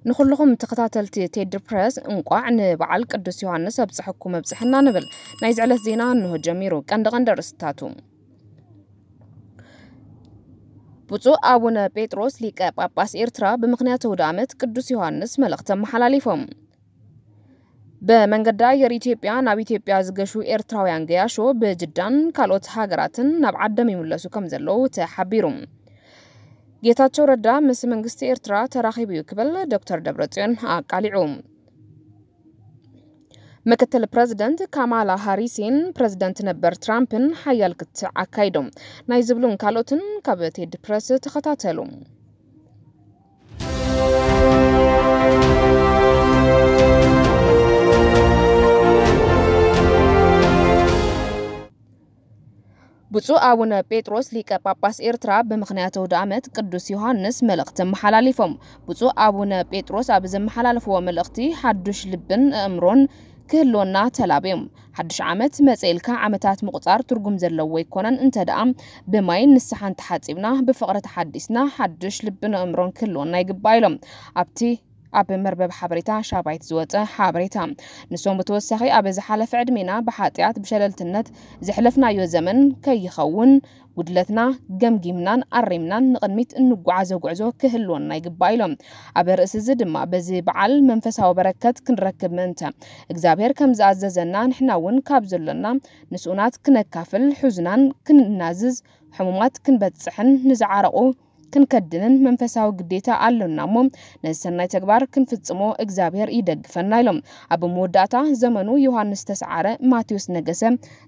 ንኹልኹም ተኸታተልቲ ቴዲ ፕረስ እንቋዕ ንበዓል ቅዱስ ዮሃንስ ኣብጽሐኩም ኣብጽሐና ንብል። ናይ ዝዕለት ዜና እንሆ ጀሚሩ። ቀንዲ ቀንዲ ኣርእስትታቱ። ብፁዕ ኣቡነ ጴጥሮስ ሊቀ ጳጳስ ኤርትራ ብምኽንያት ኣውደ ዓመት ቅዱስ ዮሃንስ መልእኽቲ ኣመሓላሊፎም። ብመንገዲ ኣየር ኢትዮጵያ ናብ ኢትዮጵያ ዝገሹ ኤርትራውያን ገያሾ ብጅዳን ካልኦት ሃገራትን ናብ ዓዶም ይምለሱ ከም ዘለዉ ተሓቢሩ። ጌታቸው ረዳ ምስ መንግስቲ ኤርትራ ተራኺቡ እዩ ክብል ዶክተር ደብረጽዮን ኣቃሊዑ። ምክትል ፕረዚደንት ካማላ ሃሪስን ፕረዚደንት ነበር ትራምፕን ሓያል ክትዕ ኣካይዶም። ናይ ዝብሉን ካልኦትን ካብ ቴዲ ፕረስ ተኸታተሉ። ብፁዕ ኣቡነ ጴጥሮስ ሊቀ ጳጳስ ኤርትራ ብምኽንያት ኣውደ ዓመት ቅዱስ ዮሃንስ መልእኽቲ ኣመሓላሊፎም። ብፁዕ ኣቡነ ጴጥሮስ ኣብ ዘመሓላለፍዎ መልእኽቲ ሓዱሽ ልብን ኣእምሮን ክህልወና ተላብዮም። ሓዱሽ ዓመት መጸ ኢልካ ዓመታት ምቑጻር ትርጉም ዘለዎ ኣይኮነን፣ እንተ ደኣ ብማይን ንስሓን ተሓጺብና፣ ብፍቕሪ ተሓዲስና፣ ሓዱሽ ልብን ኣእምሮን ክህልወና ይግባእ ኢሎም። ኣብቲ ኣብ መርበብ ሓበሬታ ሻባይት ዝወጸ ሓበሬታ። ንሶም ብተወሳኺ ኣብ ዝሓለፈ ዕድሜና ብሓጢኣት ብሸለልትነት ዘሕለፍናዮ ዘመን ከይኸውን ጉድለትና ገምጊምናን ኣሪምናን ንቕድሚት እንጓዓዞ ጉዕዞ ክህልወና ይግባእ ኢሎም። ኣብ ርእሲ እዚ ድማ በዚ በዓል መንፈሳዊ በረከት ክንረክብ ምእንተ እግዚኣብሔር ከም ዝኣዘዘና ንሕና እውን ካብ ዘሎና ንስኡናት ክነካፍል፣ ሕዙናን ክንናዝዝ፣ ሕሙማት ክንበጽሕን ንዝዓረቑ ክንከድንን መንፈሳዊ ግዴታ ኣሎና እሞ ነዚ ሰናይ ተግባር ክንፍጽሞ እግዚኣብሔር ይደግፈና ኢሎም። ኣብ መወዳእታ ዘመኑ ዮሃንስ ተስዓረ፣ ማቴዎስ ነገሰ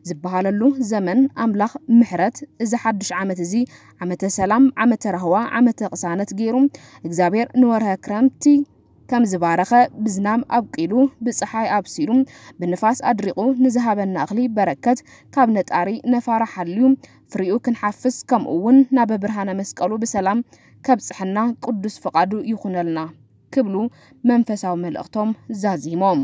ዝበሃለሉ ዘመን ኣምላኽ ምሕረት እዚ ሓድሽ ዓመት እዚ ዓመተ ሰላም፣ ዓመተ ራህዋ፣ ዓመተ ቅሳነት ገይሩ እግዚኣብሔር ንወርሀ ክረምቲ ከም ዝባረኸ ብዝናም ኣብቂሉ ብፀሓይ ኣብሲሉ ብንፋስ ኣድሪቑ ንዝሃበና እኽሊ በረከት ካብ ነጣሪ ነፋራ ሓልዩ ፍሪኡ ክንሓፍስ ከምኡ እውን ናብ ብርሃነ መስቀሉ ብሰላም ከብፅሐና ቅዱስ ፍቓዱ ይኹነልና ክብሉ መንፈሳዊ መልእኽቶም ዛዚሞም።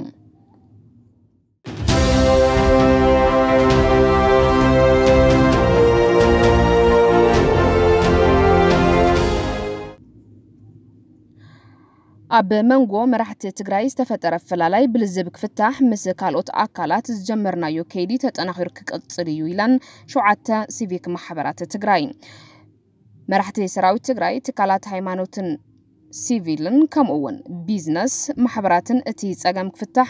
ኣብ መንጎ መራሕቲ ትግራይ ዝተፈጠረ ኣፈላላይ ብልዝብ ክፍታሕ ምስ ካልኦት ኣካላት ዝጀመርናዮ ከይዲ ተጠናኺሩ ክቅፅል እዩ ኢለን ሸውዓተ ሲቪክ ማሕበራት ትግራይ። መራሕቲ ሰራዊት ትግራይ፣ ትካላት ሃይማኖትን ሲቪልን ከምኡ እውን ቢዝነስ ማሕበራትን እቲ ፀገም ክፍታሕ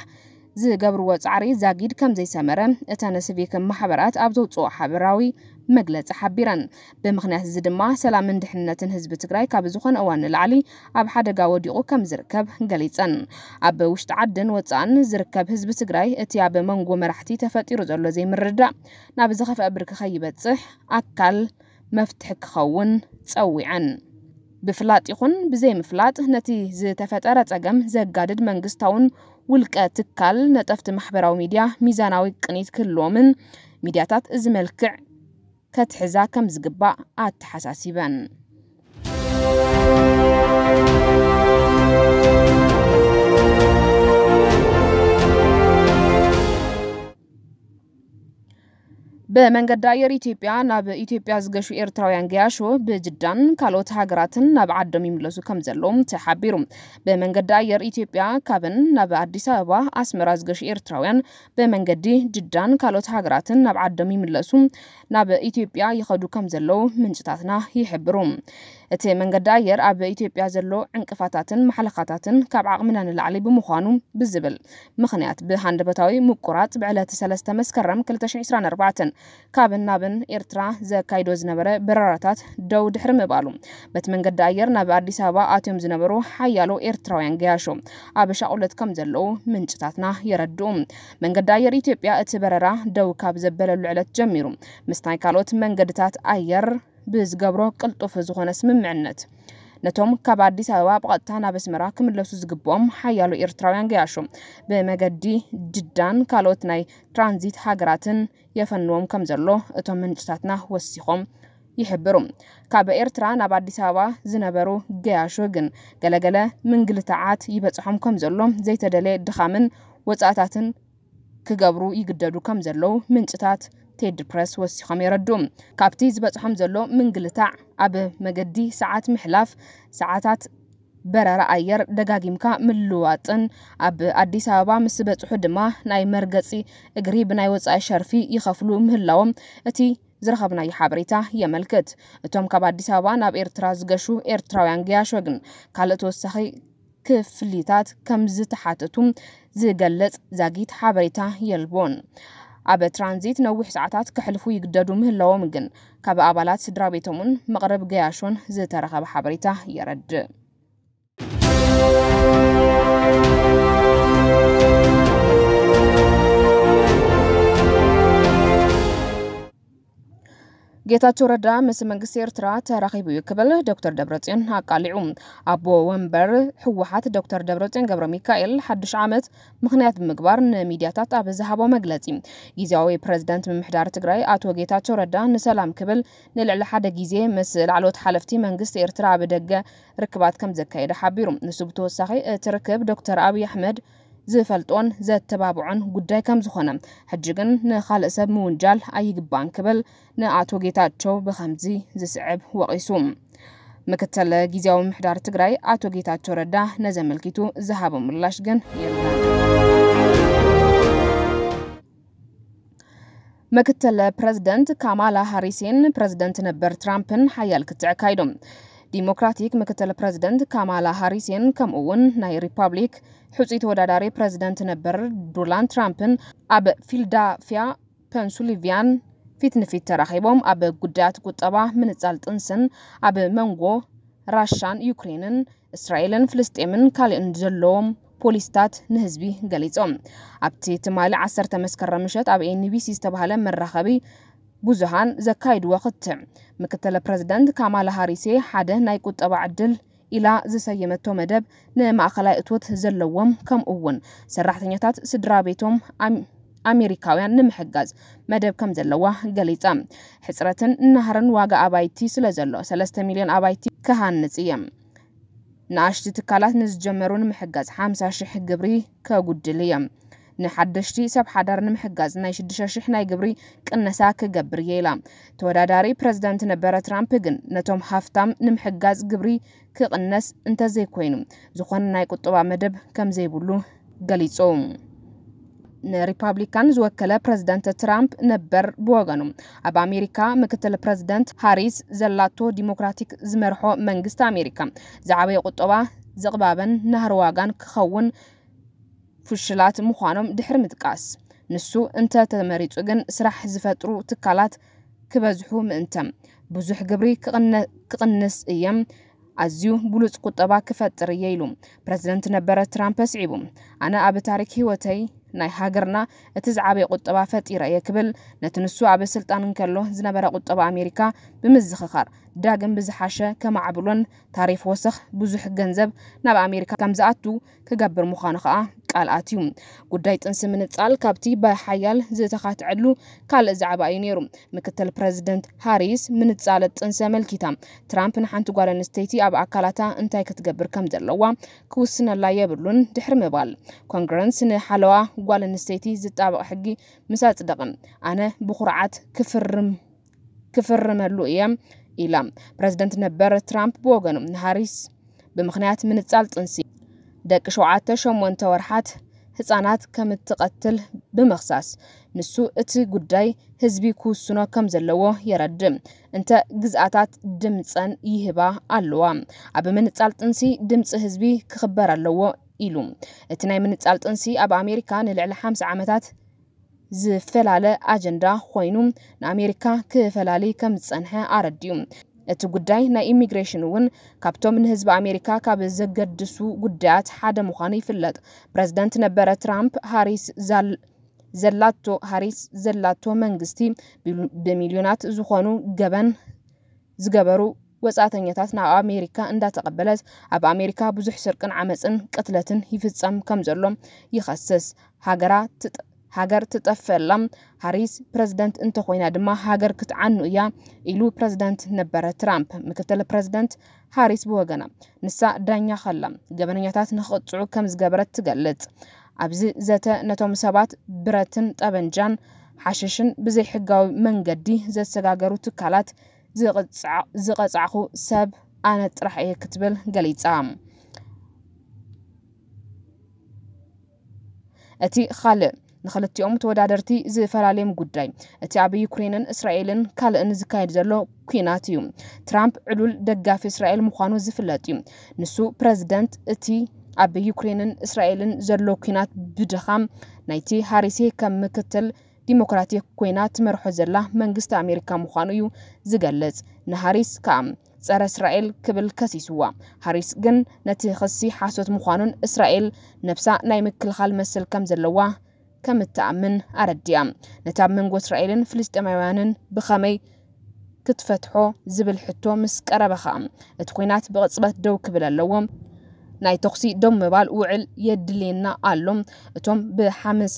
ዝገብርዎ ፃዕሪ ዛጊድ ከም ዘይሰመረ እተን ሲቪክ ማሕበራት ኣብ ዘውፅኦ ሓበራዊ መግለፂ ሓቢረን። ብምኽንያት እዚ ድማ ሰላምን ድሕንነትን ህዝቢ ትግራይ ካብ ዝኾነ እዋን ንላዕሊ ኣብ ሓደጋ ወዲቑ ከም ዝርከብ ገሊፀን። ኣብ ውሽጢ ዓድን ወፃእን ዝርከብ ህዝቢ ትግራይ እቲ ኣብ መንጎ መራሕቲ ተፈጢሩ ዘሎ ዘይምርድዳእ ናብ ዝኸፍአ ብርኪ ከይበፅሕ ኣካል መፍትሒ ክኸውን ጸዊዐን። ብፍላጥ ይኹን ብዘይምፍላጥ ነቲ ዝተፈጠረ ጸገም ዘጋድድ መንግስታውን ውልቀ ትካል ነጠፍቲ ማሕበራዊ ሚድያ ሚዛናዊ ቅኒት ክህልዎምን ሚድያታት እዚ መልክዕ ከትሕዛ ከም ዝግባእ ኣተሓሳሲበን። ብመንገዲ ኣየር ኢትዮጵያ ናብ ኢትዮጵያ ዝገሹ ኤርትራውያን ገያሾ ብጅዳን ካልኦት ሃገራትን ናብ ዓዶም ይምለሱ ከም ዘለዎም ተሓቢሩ። ብመንገዲ ኣየር ኢትዮጵያ ካብን ናብ ኣዲስ ኣበባ፣ ኣስመራ ዝገሹ ኤርትራውያን ብመንገዲ ጅዳን ካልኦት ሃገራትን ናብ ዓዶም ይምለሱ ናብ ኢትዮጵያ ይኸዱ ከም ዘለዉ ምንጭታትና ይሕብሩ። እቲ መንገዲ ኣየር ኣብ ኢትዮጵያ ዘሎ ዕንቅፋታትን ማሕለኻታትን ካብ ዓቕምና ንላዕሊ ብምዃኑ ብዝብል ምኽንያት ብሃንደበታዊ ምቁራጽ ብዕለት ሰለስተ መስከረም ክልተ ሽሕን ዕስራን ኣርባዕተን ካብን ናብን ኤርትራ ዘካይዶ ዝነበረ በረራታት ደው ድሕሪ ምባሉ፣ በቲ መንገዲ ኣየር ናብ ኣዲስ ኣበባ ኣትዮም ዝነበሩ ሓያሎ ኤርትራውያን ገያሾ ኣብ ሻቑለት ከም ዘለዉ ምንጭታትና የረድኡ። መንገዲ ኣየር ኢትዮጵያ እቲ በረራ ደው ካብ ዘበለሉ ዕለት ጀሚሩ፣ ምስ ናይ ካልኦት መንገድታት ኣየር ብዝገብሮ ቅልጡፍ ዝኾነ ስምምዕነት፣ ነቶም ካብ ኣዲስ ኣበባ ብቐጥታ ናብ ኣስመራ ክምለሱ ዝግብኦም ሓያሎ ኤርትራውያን ገያሾ ብመገዲ ጅዳን ካልኦት ናይ ትራንዚት ሃገራትን የፈንዎም ከም ዘሎ እቶም ምንጭታትና ወሲኾም ይሕብሩ። ካብ ኤርትራ ናብ ኣዲስ ኣበባ ዝነበሩ ገያሾ ግን ገለገለ ምንግልታዓት ይበጽሖም ከም ዘሎ፣ ዘይተደለየ ድኻምን ወጻእታትን ክገብሩ ይግደዱ ከም ዘለዉ ምንጭታት ቴዲ ፕረስ ወሲኾም የረድኡ። ካብቲ ዝበጽሖም ዘሎ ምንግልታዕ ኣብ መገዲ ሰዓት ምሕላፍ፣ ሰዓታት በረራ ኣየር ደጋጊምካ ምልዋጥን ኣብ ኣዲስ ኣበባ ምስ በጽሑ ድማ ናይ መርገጺ እግሪ ብናይ ወጻኢ ሸርፊ ይኸፍሉ ምህላዎም እቲ ዝረኸብናዮ ሓበሬታ የመልክት። እቶም ካብ ኣዲስ ኣበባ ናብ ኤርትራ ዝገሹ ኤርትራውያን ገያሾ ግን ካልእ ተወሳኺ ክፍሊታት ከም ዝተሓተቱ ዝገልጽ ዛጊት ሓበሬታ የልቦን። ኣብ ትራንዚት ነዊሕ ሰዓታት ከሕልፉ ይግደዱ ምህላዎም ግን ካብ ኣባላት ስድራ ቤቶምን መቕረብ ገያሾን ዝተረኸበ ሓበሬታ የረድእ። ጌታቸው ረዳ ምስ መንግስቲ ኤርትራ ተራኺቡ እዩ ክብል ዶክተር ደብረጽዮን ኣቃሊዑ። ኣቦ ወንበር ህወሓት ዶክተር ደብረጽዮን ገብረ ሚካኤል ሓድሽ ዓመት ምኽንያት ብምግባር ንሚድያታት ኣብ ዝሃቦ መግለጺ፣ ግዝያዊ ፕረዚደንት ምምሕዳር ትግራይ ኣቶ ጌታቸው ረዳ ንሰላም ክብል ንልዕሊ ሓደ ግዜ ምስ ላዕለዎት ሓለፍቲ መንግስቲ ኤርትራ ኣብ ደገ ርክባት ከም ዘካየደ ሓቢሩ። ንሱ ብተወሳኺ እቲ ርክብ ዶክተር ኣብይ ኣሕመድ ዝፈልጦን ዘተባብዖን ጉዳይ ከም ዝኾነ፣ ሕጂ ግን ንኻልእ ሰብ ምውንጃል ኣይግባን ክብል ንኣቶ ጌታቸው ብኸምዚ ዝስዕብ ወቒሱ። ምክትል ግዝያዊ ምምሕዳር ትግራይ ኣቶ ጌታቸው ረዳ ነዚ ኣመልኪቱ ዝሃቦ ምላሽ ግን የለን። ምክትል ፕረዚደንት ካማላ ሃሪስን ፕረዚደንት ነበር ትራምፕን ሓያል ክትዕ ኣካይዶም። ዲሞክራቲክ ምክትል ፕረዚደንት ካማላ ሃሪስን ከምኡ እውን ናይ ሪፓብሊክ ሕጹይ ተወዳዳሪ ፕረዚደንት ነበር ዶናልድ ትራምፕን ኣብ ፊላደልፊያ ፐንሱልቪያን ፊት ንፊት ተራኺቦም ኣብ ጉዳያት ቁጠባ፣ ምንጻል ጥንስን ኣብ መንጎ ራሻን ዩክሬንን እስራኤልን ፍልስጤምን ካልእን ዘለዎም ፖሊስታት ንህዝቢ ገሊጾም። ኣብቲ ትማሊ ዓሰርተ መስከረም ምሸት ኣብ ኤንቢሲ ዝተባህለ መራኸቢ ብዙሃን ዘካይድዎ ክትዕ፣ ምክትል ፕረዚደንት ካማላ ሃሪሴ ሓደ ናይ ቁጠባ ዕድል ኢላ ዝሰየመቶ መደብ ንማእኸላይ እቶት ዘለዎም ከምኡ እውን ሰራሕተኛታት ስድራ ቤቶም ኣም-፣ ኣሜሪካውያን ንምሕጋዝ መደብ ከም ዘለዋ ገሊጻ። ሕጽረትን ናህርን ዋጋ ኣባይቲ ስለ ዘሎ ሰለስተ ሚልዮን ኣባይቲ ክሃንጽ እየ። ንኣሽቱ ትካላት ንዝጀመሩ ንምሕጋዝ ሓምሳ ሽሕ ግብሪ ከጉድል እየ። ንሓደሽቲ ሰብ ሓዳር ንምሕጋዝ ናይ ሽዱሽተ ሽሕ ናይ ግብሪ ቅነሳ ክገብር እየ ኢላ። ተወዳዳሪ ፕረዚደንት ነበረ ትራምፕ ግን ነቶም ሃፍታም ንምሕጋዝ ግብሪ ክቕነስ እንተዘይኮይኑ ዝኾነ ናይ ቁጠባ መደብ ከም ዘይብሉ ገሊጹ። ንሪፓብሊካን ዝወከለ ፕረዚደንት ትራምፕ ነበር ብወገኑ ኣብ ኣሜሪካ ምክትል ፕረዚደንት ሃሪስ ዘላቶ ዲሞክራቲክ ዝመርሖ መንግስቲ ኣሜሪካ ዝዓበየ ቁጠባ ዝቕባበን ናህሪ ዋጋን ክኸውን ፍሽላት ምዃኖም ድሕሪ ምጥቃስ፣ ንሱ እንተ ተመሪጹ ግን ስራሕ ዝፈጥሩ ትካላት ክበዝሑ ምእንተ ብዙሕ ግብሪ ክቕነ-፣ ክቕንስ እየ፣ ኣዝዩ ብሉጽ ቁጠባ ክፈጥር እየ ኢሉ ፕረዚደንት ነበረ ትራምፕ ኣስዒቡ። ኣነ ኣብ ታሪክ ህይወተይ ናይ ሃገርና እቲ ዝዓበየ ቁጠባ ፈጢረ እየ ክብል ነቲ ንሱ ኣብ ስልጣን እንከሎ ዝነበረ ቁጠባ ኣሜሪካ ብምዝኽኻር ዳግም ብዝሓሸ ከማዕብሎን ታሪፍ ወሰኽ ብዙሕ ገንዘብ ናብ ኣሜሪካ ከም ዝኣቱ ክገብር ምዃኑ ከኣ ቃል ኣትዩ። ጉዳይ ጥንሲ ምንጻል ካብቲ ብሓያል ዝተኻትዐሉ ካልእ ዛዕባ እዩ ነይሩ። ምክትል ፕረዚደንት ሃሪስ ምንጻል ጥንሲ ኣመልኪታ ትራምፕ ንሓንቲ ጓል ኣንስተይቲ ኣብ ኣካላታ እንታይ ክትገብር ከም ዘለዋ ክውስነላ የብሉን ድሕሪ ምባል፣ ኮንግረስ ንሓለዋ ጓል ኣንስተይቲ ዝጣበቕ ሕጊ ምስ ኣጽደቐ ኣነ ብኹርዓት ክፍርም ክፍርመሉ እየ ኢላ። ፕረዚደንት ነበር ትራምፕ ብወገኑ ንሃሪስ ብምኽንያት ምንጻል ጥንሲ ደቂ ሸውዓተ ሸሞንተ ወርሓት ህጻናት ከም እትቐትል ብምኽሳስ፣ ንሱ እቲ ጉዳይ ህዝቢ ክውስኖ ከም ዘለዎ የረድእ። እንተ ግዝኣታት ድምጸን ይህባ ኣለዋ። ኣብ ምንጻል ጥንሲ ድምጺ ህዝቢ ክኽበር ኣለዎ ኢሉ። እቲ ናይ ምንጻል ጥንሲ ኣብ ኣሜሪካ ንልዕሊ ሓምሳ ዓመታት ዝፈላለ ኣጀንዳ ኮይኑ ንኣሜሪካ ክፈላሊ ከም ዝጸንሐ ኣረዲኡ። እቲ ጉዳይ ናይ ኢሚግሬሽን እውን ካብቶም ንህዝቢ ኣሜሪካ ካብ ዘገድሱ ጉዳያት ሓደ ምዃኑ ይፍለጥ። ፕረዚደንት ነበረ ትራምፕ ሃሪስ ዛል-፣ ዘላቶ፣ ሃሪስ ዘላቶ መንግስቲ ቢሉ-፣ ብሚልዮናት ዝኾኑ ገበን ዝገበሩ ወጻእተኛታት ናብ ኣሜሪካ እንዳተቐበለት ኣብ ኣሜሪካ ብዙሕ ስርቅን ዓመፅን ቅትለትን ይፍጸም ከም ዘሎ ይኸስስ። ሃገራ ትጥ-፣ ሃገር ትጠፍአላ ሃሪስ ፕረዚደንት እንተኾይና ድማ ሃገር ክትዓኑ እያ ኢሉ ፕረዚደንት ነበረ ትራምፕ። ምክትል ፕረዚደንት ሃሪስ ብወገና ንሳ ዳኛ ከላ ገበነኛታት ንክቕፅዑ ከም ዝገበረት ትገልጽ። ኣብዚ ዘተ ነቶም ሰባት ብረትን ጠበንጃን ሓሽሽን ብዘይሕጋዊ መንገዲ ዘሰጋገሩ ትካላት ዝቕጻዕ-፣ ዝቐጻዕኹ ሰብ ኣነ ጥራሕ እየ ክትብል ገሊጻ። እቲ ካልእ ንክልቲኦም ተወዳደርቲ ዝፈላለዮም ጉዳይ፣ እቲ ኣብ ዩክሬንን እስራኤልን ካልእን ዝካየድ ዘሎ ኲናት እዩ። ትራምፕ ዕሉል ደጋፊ እስራኤል ምዃኑ ዝፍለጥ እዩ። ንሱ ፕረዚደንት እቲ ኣብ ዩክሬንን እስራኤልን ዘሎ ኲናት ብድኻም ናይቲ ሃሪሴ ከም ምክትል ዲሞክራቲክ ኮይና ትመርሖ ዘላ መንግስቲ ኣሜሪካ ምዃኑ እዩ ዝገልጽ። ንሃሪስ ከኣ ጸረ እስራኤል ክብል ከሲስዋ። ሃሪስ ግን ነቲ ክሲ ሓሶት ምዃኑን እስራኤል ነብሳ ናይ ምክልኻል መሰል ከም ዘለዋ ከም እትኣምን ኣረዲኣ። ነቲ ኣብ መንጎ እስራኤልን ፍልስጤማውያንን ብኸመይ ክትፈትሖ ዝብል ሕቶ ምስ ቀረበ ኸኣ፣ እቲ ኲናት ብቕጽበት ደው ክብል ኣለዎ። ናይ ተኹሲ ደው ምባል ውዕል የድልየና ኣሎ። እቶም ብሓመስ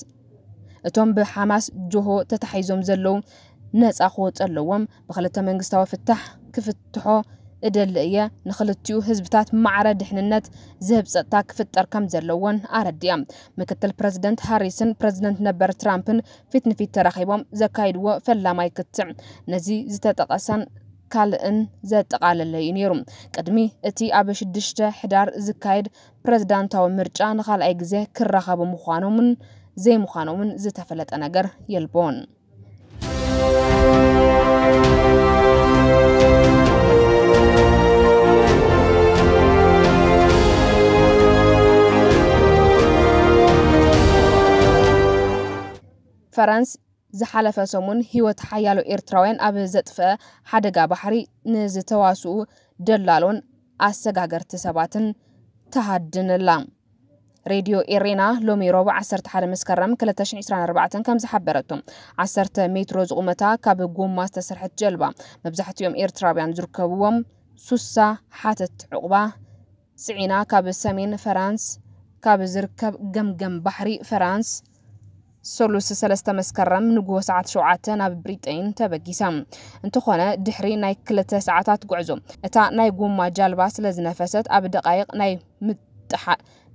እቶም ብሓማስ ጆሆ ተታሒዞም ዘለዉ ነጻ ክወጹ ኣለዎም። ብክልተ መንግስታዊ ፍታሕ ክፍትሖ እደሊ እየ። ንክልቲኡ ህዝብታት ማዕረ ድሕንነት ዝህብ ጸጥታ ክፍጠር ከም ዘለዎን ኣረዲኣ። ምክትል ፕረዚደንት ሃሪስን ፕረዚደንት ነበር ትራምፕን ፊት ንፊት ተራኺቦም ዘካይድዎ ፈላማይ ክትዕ ነዚ ዝተጠቐሰን ካልእን ዘጠቓለለ እዩ ነይሩ። ቅድሚ እቲ ኣብ ሽዱሽተ ሕዳር ዝካየድ ፕረዚዳንታዊ ምርጫ ንኻልኣይ ግዜ ክራኸቡ ምዃኖምን ዘይምዃኖምን ዝተፈለጠ ነገር የልቦን። ፈረንስ ዝሓለፈ ሰሙን ህይወት ሓያሎ ኤርትራውያን ኣብ ዘጥፍአ ሓደጋ ባሕሪ ንዝተዋስኡ ደላሎን ኣሰጋገርቲ ሰባትን ተሃድን ኣላ። ሬድዮ ኤሬና ሎሚ ረቡዕ ዓሰርተ ሓደ መስከረም ክልተ ሽሕን ዕስራን ኣርባዕተን ከም ዝሓበረቶ፣ ዓሰርተ ሜትሮ ዝቑመታ ካብ ጎማ ዝተሰርሐት ጀልባ፣ መብዛሕትኦም ኤርትራውያን ዝርከብዎም ሱሳ ሓተት ዕቑባ ጽዒና ካብ ሰሜን ፈራንስ ካብ ዝርከብ ገምገም ባሕሪ ፈራንስ ሰሉስ ሰለስተ መስከረም ንግሆ ሰዓት ሸውዓተ ናብ ብሪጠይን ተበጊሳ። እንተኾነ ድሕሪ ናይ ክልተ ሰዓታት ጉዕዞ እታ ናይ ጎማ ጃልባ ስለ ዝነፈሰት ኣብ ደቃይቕ ናይ ምጥሓ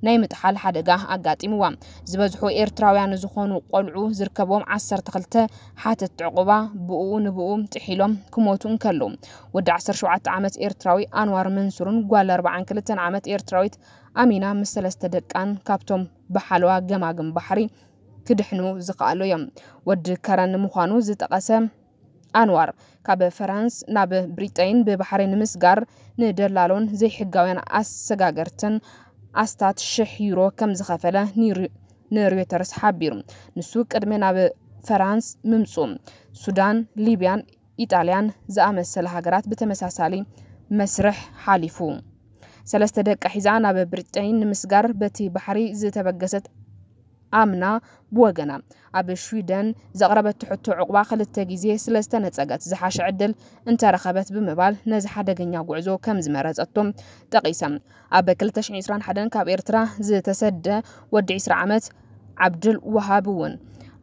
ናይ ምጥሓል ሓደጋ ኣጋጢምዋ። ዝበዝሑ ኤርትራውያን ዝኾኑ ቆልዑ ዝርከቦም ዓሰርተ ክልተ ሓተት ዕቑባ ብኡ ንብኡ ጥሒሎም ክሞቱ እንከለዉ፣ ወዲ ዓሰርተ ሸውዓተ ዓመት ኤርትራዊ ኣንዋር መንሱርን ጓል ኣርባዓን ክልተን ዓመት ኤርትራዊት ኣሚና ምስ ሰለስተ ደቃን ካብቶም ብሓለዋ ገማግም ባሕሪ ክድሕኑ ዝኸኣሉ እዮም። ወዲ ከረን ምዃኑ ዝጠቐሰ ኣንዋር፣ ካብ ፈራንስ ናብ ብሪጠይን ብባሕሪ ንምስጋር ንደላሎን ዘይሕጋውያን ኣሰጋገርትን ኣስታት ሽሕ ዩሮ ከም ዝኸፈለ ንሪ-፣ ንሮይተርስ ሓቢሩ። ንሱ ቅድሚ ናብ ፈራንስ ምምጽኡ፣ ሱዳን፣ ሊብያን ኢጣልያን ዝኣመሰላ ሃገራት ብተመሳሳሊ መስርሕ ሓሊፉ። ሰለስተ ደቃ ሒዛ ናብ ብሪጠይን ንምስጋር በቲ ባሕሪ ዝተበገሰት ኣምና ብወገና፣ ኣብ ሽዊደን ዘቕረበቶ ሕቶ ዕቑባ ክልተ ግዜ ስለ ዝተነጸገት፣ ዝሓሸ ዕድል እንተረኸበት ብምባል ነዚ ሓደገኛ ጉዕዞ ከም ዝመረጸቶ ጠቒሳ። ኣብ ክልተ ሽሕን ዕስራን ሓደን ካብ ኤርትራ ዝተሰደ ወዲ ዕስራ ዓመት ዓብዱል ወሃብ እውን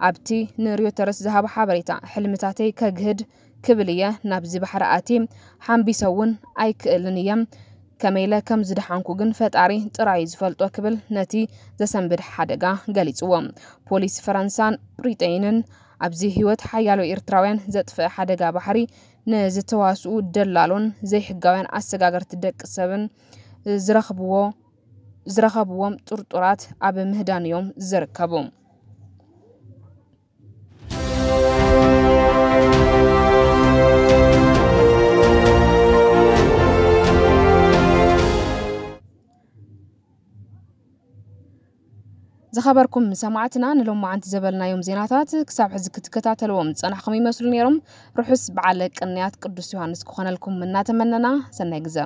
ኣብቲ ንሮይተርስ ዝሃቦ ሓበሬታ፣ ሕልምታተይ ከግህድ ክብል እየ ናብዚ ባሕሪ ኣትየ፣ ሓምቢሰ እውን ኣይክእልን እየ። ከመይ ኢለ ከም ዝደሓንኩ ግን ፈጣሪ ጥራይ ዝፈልጦ ክብል ነቲ ዘሰንብድ ሓደጋ ገሊጽዎ። ፖሊስ ፈረንሳን ብሪጠይንን ኣብዚ ህይወት ሓያሎ ኤርትራውያን ዘጥፍአ ሓደጋ ባሕሪ ንዝተዋስኡ ደላሎን ዘይሕጋውያን ኣሰጋገርቲ ደቂ ሰብን ዝረኽብዎ፣ ዝረኸብዎም ጥርጡራት ኣብ ምህዳን እዮም ዝርከቡ። ዝኸበርኩም ሰማዕትና፣ ንሎማዓንቲ ዘበልናዮም ዜናታት ክሳብ ሕዚ ክትከታተልዎም ዝጸናሕኩም ይመስሉ ነይሮም። ርሑስ በዓለ ቅንያት ቅዱስ ዮሃንስ ክኾነልኩም እናተመነና፣ ሰናይ ግዘ።